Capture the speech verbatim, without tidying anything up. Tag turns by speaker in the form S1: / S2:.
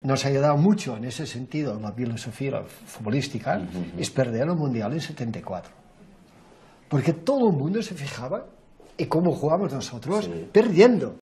S1: nos ha ayudado mucho en ese sentido, la filosofía futbolística, uh-huh. es perder el Mundial en setenta y cuatro. Porque todo el mundo se fijaba en cómo jugamos nosotros, sí. perdiendo.